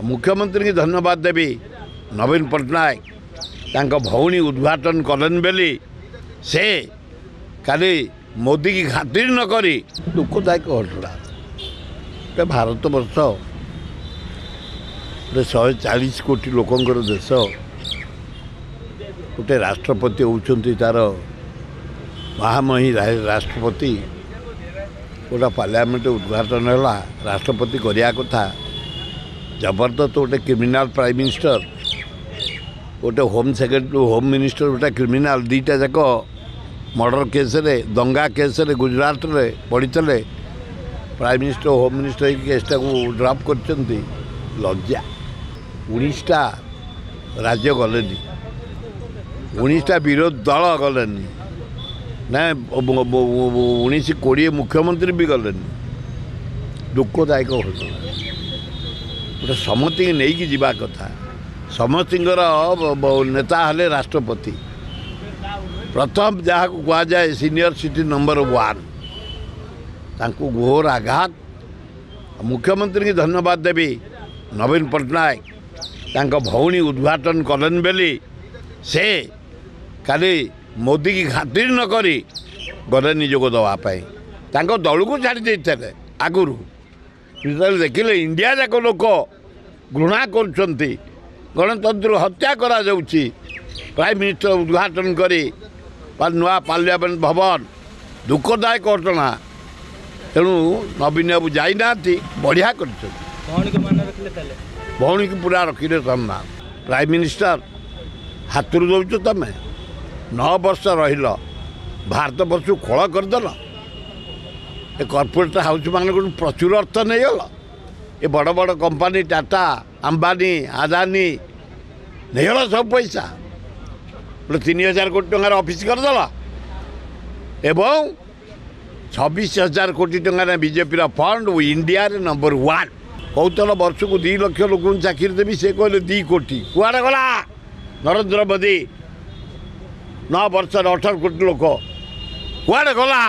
ମୁଖ୍ୟମନ୍ତ୍ରୀଙ୍କୁ ଧନ୍ୟବାଦ ଦେବି। ନବୀନ ପଟ୍ଟନାୟକ ତାଙ୍କ ଭଉଣୀ ଉଦ୍ଘାଟନ କଲେନି ବୋଲି ସେ କାଲି ମୋଦିକି ଖାତିର ନ କରି, ଦୁଃଖଦାୟକ ଘଟଣା। ଗୋଟେ ଭାରତବର୍ଷ, ଗୋଟେ 140 କୋଟି ଲୋକଙ୍କର ଦେଶ, ଗୋଟେ ରାଷ୍ଟ୍ରପତି ହେଉଛନ୍ତି ତା'ର ମହାମହି ରାଷ୍ଟ୍ରପତି। ଗୋଟେ ପାର୍ଲାମେଣ୍ଟ ଉଦ୍ଘାଟନ ହେଲା, ରାଷ୍ଟ୍ରପତି କରିବା କଥା। ଜବରଦସ୍ତ ଗୋଟେ କ୍ରିମିନାଲ ପ୍ରାଇମ୍ ମିନିଷ୍ଟର, ଗୋଟେ ହୋମ୍ ସେକ୍ରେଟାରୀ, ହୋମ୍ ମିନିଷ୍ଟର ଗୋଟେ କ୍ରିମିନାଲ, ଦୁଇଟା ଯାକ ମର୍ଡ଼ର କେସ୍ରେ, ଦଙ୍ଗା କେସ୍ରେ ଗୁଜୁରାଟରେ ପଡ଼ିଥିଲେ। ପ୍ରାଇମ୍ ମିନିଷ୍ଟର, ହୋମ୍ ମିନିଷ୍ଟର ହେଇକି କେସ୍ଟାକୁ ଡ୍ରପ୍ କରିଛନ୍ତି। ଲଜ୍ଜା। 19ଟା ରାଜ୍ୟ ଗଲେନି, 19ଟା ବିରୋଧୀ ଦଳ ଗଲେନି, ନା 19 20 ମୁଖ୍ୟମନ୍ତ୍ରୀ ବି ଗଲେନି। ଦୁଃଖଦାୟକ ଘଟଣା। ଗୋଟେ ସମସ୍ତଙ୍କୁ ନେଇକି ଯିବା କଥା। ସମସ୍ତଙ୍କର ନେତା ହେଲେ ରାଷ୍ଟ୍ରପତି ପ୍ରଥମ, ଯାହାକୁ କୁହାଯାଏ ସିନିୟର ସିଟି ନମ୍ବର 1, ତାଙ୍କୁ ଘୋର ଆଘାତ। ମୁଖ୍ୟମନ୍ତ୍ରୀଙ୍କୁ ଧନ୍ୟବାଦ ଦେବି। ନବୀନ ପଟ୍ଟନାୟକ ତାଙ୍କ ଭଉଣୀ ଉଦ୍ଘାଟନ କଲେନି ବୋଲି ସେ କାଲି ମୋଦିକି ଖାତିର ନ କରି ଗଲେନି ଯୋଗ ଦେବା ପାଇଁ। ତାଙ୍କ ଦଳକୁ ଛାଡ଼ି ଦେଇଥିଲେ ଆଗରୁ। ଯେତେବେଳେ ଦେଖିଲେ ଇଣ୍ଡିଆ ଯାକ ଲୋକ ଘୃଣା କରୁଛନ୍ତି, ଗଣତନ୍ତ୍ର ହତ୍ୟା କରାଯାଉଛି, ପ୍ରାଇମ୍ ମିନିଷ୍ଟର ଉଦ୍ଘାଟନ କରି ନୂଆ ପାର୍ଲାମେଣ୍ଟ ଭବନ, ଦୁଃଖଦାୟକ ଘଟଣା। ତେଣୁ ନବୀନ ବାବୁ ଯାଇନାହାନ୍ତି, ବଢ଼ିଆ କରିଛନ୍ତି। ଭଉଣୀକୁ ପୁରା ରଖିଲେ ସମ୍ମାନ। ପ୍ରାଇମ୍ ମିନିଷ୍ଟର ହାତରୁ ଦେଉଛ ତମେ, 9 ବର୍ଷ ରହିଲ, ଭାରତବର୍ଷକୁ ଖୋଳ କରିଦେଲ। ଏ କର୍ପୋରେଟ୍ ହାଉସ୍ମାନଙ୍କଠୁ ପ୍ରଚୁର ଅର୍ଥ ନେଇଗଲ। ଏ ବଡ଼ ବଡ଼ କମ୍ପାନୀ ଟାଟା, ଆମ୍ବାନୀ, ଆଦାନୀ ନେଇଗଲ ସବୁ ପଇସା। ଗୋଟେ 3000 କୋଟି ଟଙ୍କାର ଅଫିସ୍ କରିଦେଲ ଏବଂ 26,000 କୋଟି ଟଙ୍କାର ବିଜେପିର ଫଣ୍ଡ, ଇଣ୍ଡିଆରେ ନମ୍ବର 1। କହୁଥିଲ ବର୍ଷକୁ 2 ଲକ୍ଷ ଲୋକଙ୍କୁ ଚାକିରି ଦେବି, ସେ କହିଲେ 2 କୋଟି। କୁଆଡ଼େ ଗଲା ନରେନ୍ଦ୍ର ମୋଦି? 9 ବର୍ଷରେ 18 କୋଟି ଲୋକ କୁଆଡ଼େ ଗଲା?